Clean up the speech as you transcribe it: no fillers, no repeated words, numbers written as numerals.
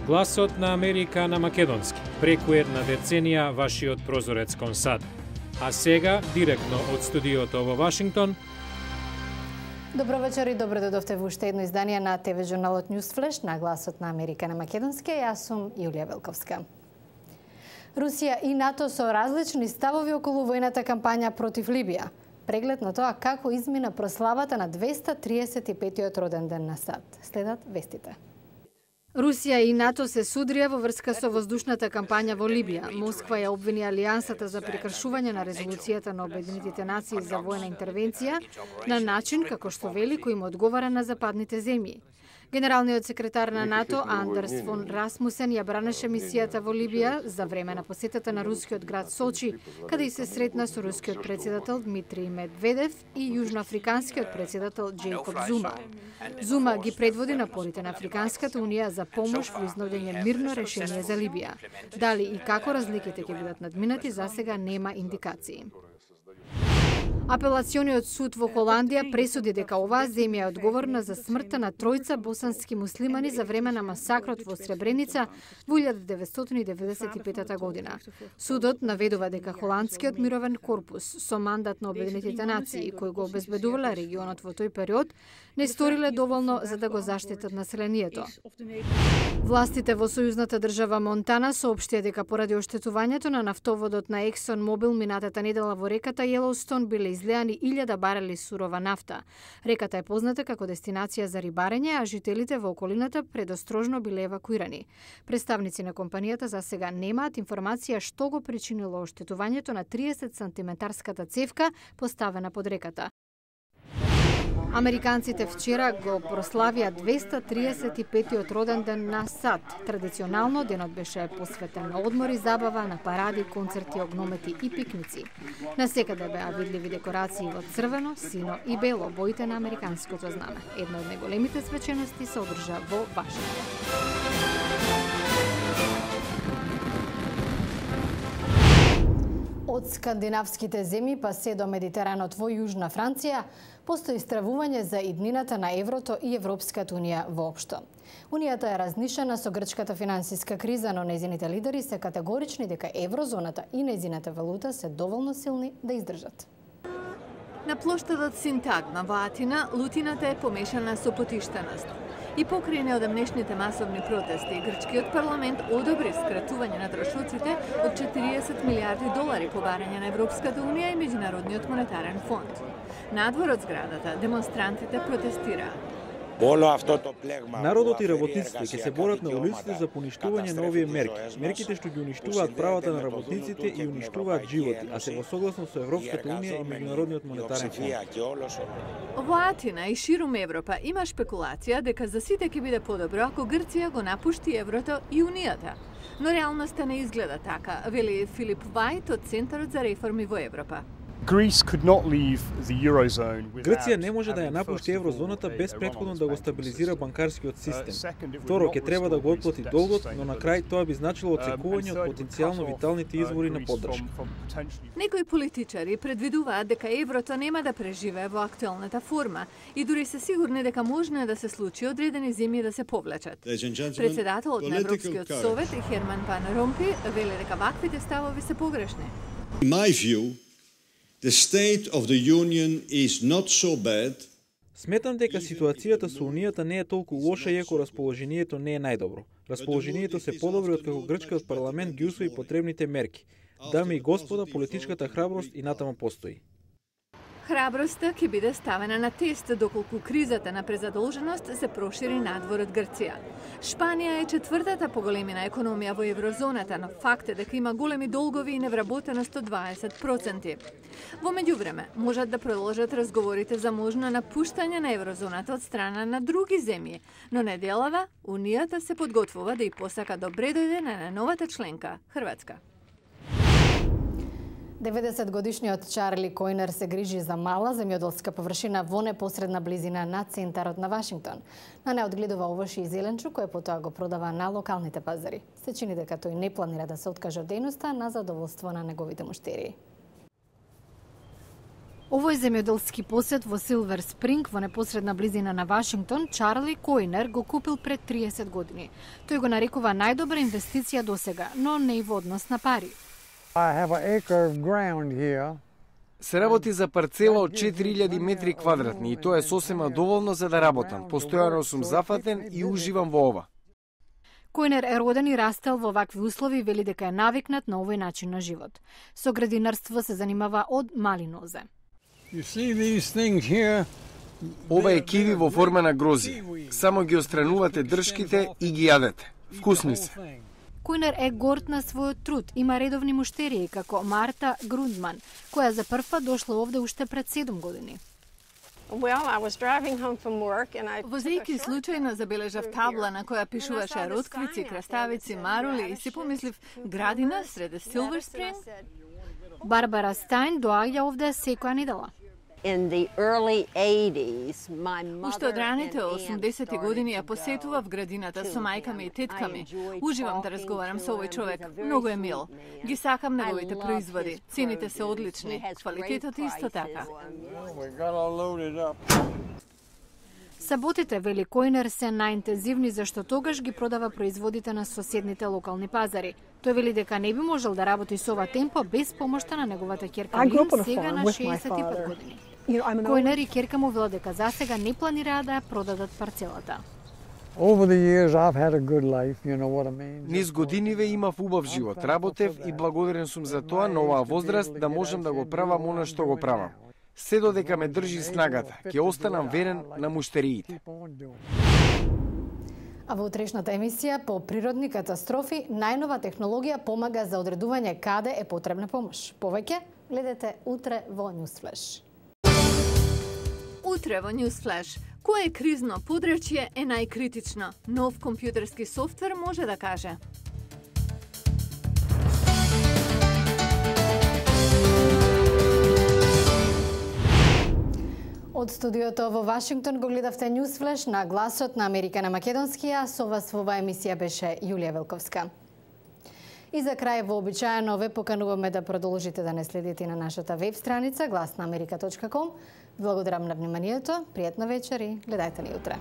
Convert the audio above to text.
Гласот на Америка на македонски. Преку една деценија вашиот прозорец кон САД. А сега, директно од студиото во Вашингтон. Добро вечер и добро дојдовте во уште едно издание на ТВ журналот News Flash на Гласот на Америка на македонски. Јас сум Јулија Велковска. Русија и НАТО со различни ставови околу војната кампања против Либија. Преглед на тоа како измина прославата на 235-тиот роден ден на САД. Следат вестите. Русија и НАТО се судрија во врска со воздушната кампања во Либија. Москва ја обвини Алијансата за прекршување на резолуцијата на Обединетите нации за војна интервенција на начин како што вели кој им одговара на западните земји. Генералниот секретар на НАТО Андерс фон Расмусен ја бранеше мисијата во Либија за време на посетата на рускиот град Сочи, каде и се сретна со рускиот председател Дмитрий Медведев и јужноафриканскиот председател Джейкоб Зума. Зума ги предводи напорите на Африканската унија за помош во изнаоѓање мирно решение за Либија. Дали и како разликите ќе бидат надминати, засега нема индикации. Апелациониот суд во Холандија пресуди дека оваа земја е одговорна за смртта на тројца босански муслимани за време на масакрот во Сребреница во 1995 година. Судот наведува дека холандскиот мировен корпус со мандат на Обединетите нации, кој го обезбедувале регионот во тој период, не сториле доволно за да го заштитат населението. Властите во сојузната држава Монтана соопштија дека поради оштетувањето на нафтоводот на Ексон Мобил минатата недела во реката Јелоустон биле излеани 1000 барели сурова нафта. Реката е позната како дестинација за рибарење, а жителите во околината предострожно биле евакуирани. Представници на компанијата за сега немаат информација што го причинило оштетувањето на 30 сантиметарската цевка поставена под реката. Американците вчера го прославија 235-тиот роден ден на САД. Традиционално денот беше посветен на одмори, забава, на паради, концерти, огномети и пикници. Насекаде беа видливи декорации во црвено, сино и бело, боите на американското знаме. Една од најголемите свечености се одржа во Вашингтон. Од скандинавските земји па се до Медитеранот во Јужна Франција постои стравување за иднината на еврото и Европската унија воопшто. Унијата е разнишена со грчката финансиска криза, но нејзините лидери се категорични дека еврозоната и нејзината валута се доволно силни да издржат. На плоштадот Синтагма во Атина лутината е помешана со потиштеност. И покрај неодамнешните масовни протести, грчкиот парламент одобри скратување на трошоците од 40 милиарди долари по барање на Европската унија и Меѓународниот монетарен фонд. Надвор од зградата демонстрантите протестираат. Народот и работниците ќе се борат на улиците за поништување на овие мерки. Мерките што ги уништуваат правата на работниците и уништуваат животи, а се во согласно со Европската унија и Меѓународниот монетарен фонд. Во Атина и ширум Европа има шпекулација дека за сите ќе биде подобро ако Грција го напушти еврото и унијата. Но реалноста не изгледа така, вели Филип Вајт од Центарот за реформи во Европа. Грција не може да ја напушти еврозоната без претходно да го стабилизира банкарскиот систем. Второ, ќе треба да го отплати долгот, но на крај тоа би значило отсекување од потенцијално виталните извори на поддршка. Некои политичари предвидуваат дека еврото нема да преживее во актуелната форма и дури се сигурни дека можно е да се случи одредени земји да се повлечат. Председателот на Европскиот совет Херман Ван Ромпуй вели дека ваквите ставови се погрешни. The state of the union is not so bad. Сметам дека ситуацијата со унијата не е толку лоша иако расположението не е најдобро. Расположението се подобри откако грчкиот парламент ги усвои потребните мерки. Дами и господа, политичката храброст и натаму постои. Храброста ќе биде ставена на тест доколку кризата на презадолженост се прошири надвор од Грција. Шпанија е четвртата поголемина економија во еврозоната, но факт е дека има големи долгови и невработеност од 20%. Во меѓувреме, можат да продолжат разговорите за можно напуштање на еврозоната од страна на други земји, но неделава Унијата се подготвува да и посака добре дојде на новата членка, Хрватска. 90-годишниот Чарли Којнер се грижи за мала земјоделска површина во непосредна близина на центарот на Вашингтон. На неа одгледува овошје и зеленчук кој потоа го продава на локалните пазари. Се чини дека тој не планира да се откаже од дејноста на задоволство на неговите муштерии. Овој земјоделски посет во Силвер Спринг во непосредна близина на Вашингтон, Чарли Којнер го купил пред 30 години. Тој го нарекува најдобра инвестиција досега, но не и во однос на пари. Се работи за парцела од 4000 метри квадратни и тоа е сосема доволно за да работам. Постојано сум зафатен и уживам во ова. Којнер е роден и растел во вакви услови и вели дека е навикнат на овој начин на живот. Со градинарство се занимава од мали нозе. Ова е киви во форма на грози. Само ги отстранувате дршките и ги јадете. Вкусни се. Којнер е горд на својот труд. Има редовни муштерии како Марта Грундман, која за прв пат дошла овде уште пред 7 години. Возејќи случајно забележав табла на која пишуваше ротквици, краставици, марули и си помислив градина среде Силвер Спринг. Барбара Стајн доаѓа овде секоја недела. Уште од раните 80-ти години ја посетував градината со мајка ми и тетка ми. Уживам да разговарам со овој човек. Многу е мил. Ги сакам неговите производи. Цените се одлични. Квалитетот исто така. Саботите, вели Којнер, се најинтензивни зашто тогаш ги продава производите на соседните локални пазари. Тој вели дека не би можел да работи со ова темпо без помошта на неговата ќерка Лин, сега на 65 години. Којнер и ќерка му велат дека засега не планираат да ја продадат парцелата. Низ годиниве имав убав живот, работев и благодарен сум за тоа на оваа возраст да можам да го правам она што го правам. Се додека ме држи снагата, ќе останам верен на муштериите. А во утрешната емисија по природни катастрофи, најнова технологија помага за одредување каде е потребна помош. Повеќе гледате утре во Newsflash. Утре во Newsflash. Кое кризно подрачје е најкритично? Нов компјутерски софтвер може да каже. Од студиото во Вашингтон го гледавте Newsflash на гласот на Америка на македонски, а со вас во оваа емисија беше Јулија Велковска. И за крај вообичаено ве покануваме да продолжите да не следите на нашата веб страница glasnaamerika.com. Благодарам на вниманието, пријатна вечер и гледајте ни утре.